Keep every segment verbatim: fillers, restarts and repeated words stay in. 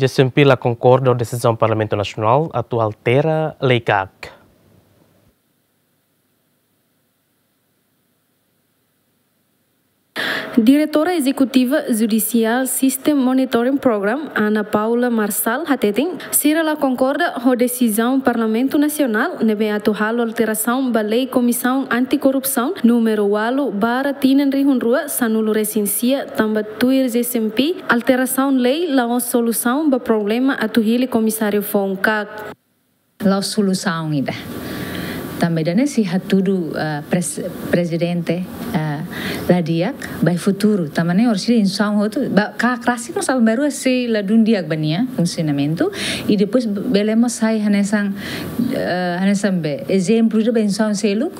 J C M P la konkorda ho desizaun Parlamentu Nasionál atu altera lei kak. Diretora Ezekutiva Judicial System Monitoring Program, Ana Paula Marçal, hateten, sira la konkorda ho desizaun Parlamentu Nasionál ne'ebé atu halo alterasaun ba lei Komisaun Antikorrupsaun númeru ualu barra tinan rihun rua sanulu resin sia, tanba tuir J C M P, alterasaun lei la'ós solusaun ba problema atu hili komisáriu foun kak. La'ós solusaun ida. Tanba ida-ne'e sei hatudu, eh, pres-, prezidente, eh, la di'ak ba iha futuru. Tanba ne'e orsida instrusaun hotu, ba, kak rasik mós aban-bainrua sei ladún di'ak ba nia funsionamentu. I depois bele mós sai hanesan, eh, hanesan be, ezemplu ida ba instrusaun seluk,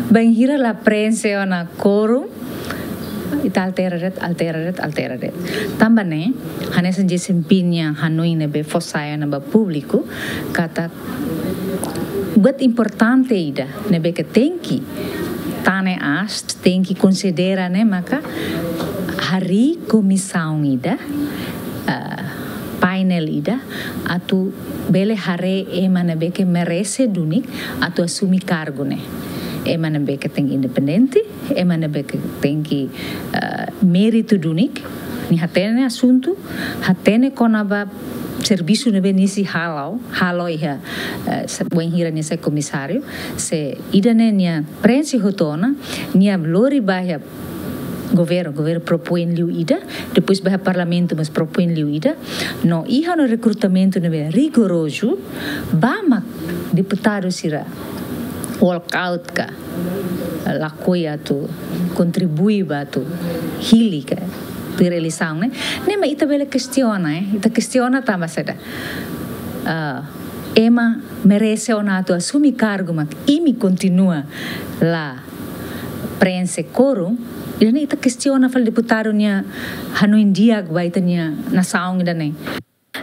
bainhira la preenxe ona quorum, ita altera de'it, altera de'it, altera de'it. Tanba ne'e, hanesan J C M P nia hanoin ne'ebé fó sai ona ba públiku, katak buat importante ida ne'ebé ke tenke tane aas, tenke konsidera ne'e maka harii komisaun ida, ah, painel ida, atu bele haree ema ne'ebé ke merese duni atu asume kargu ne'e. Ema ne'ebé ke tenke independente, ema ne'ebé ke tenke, eh, méritu duni, nia hatene asuntu, hatene kona-ba servisu ne'ebé nia sei halo, halo iha, eh, se-, bainhira nia sai komisáriu, se ida-ne'e nia preenxe hotu ona, nia lori ba iha governu, governu propoin liu ida, depois ba iha Parlamentu mós propoin liu ida, no iha ona rekrutamentu ne'ebé rigorozu, ba mak deputadu sira walk out ka, lakohi atu kontribui ba atu hili ka, tuir eleisaun ne'e. Ne'e mak ita bele kestiona, eh. Ita kestiona tanba saida? Ah, ema merese ona atu asume kargu mak imi kontinua la preenxe quorum, ida-ne'e ita kestiona fali deputadu nia hanoin di'ak ba ita-nia nasaun ida-ne'e.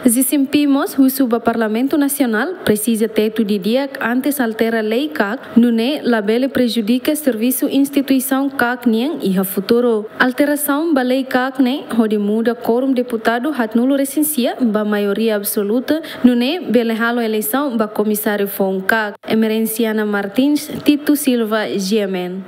J C M P mós husu ba Parlamentu Nasionál presiza tetu didi'ak antes altera lei kak, nune'e labele prejudika servisu instituisaun kak nian iha futuru. Alterasaun ba lei kak ne'e hodi muda quorum deputadu haatnulu resin sia ba maioria absoluta, nune'e bele halo eleisaun ba komisáriu foun kak. Emerenciana Martins, Tito Silva, G M N.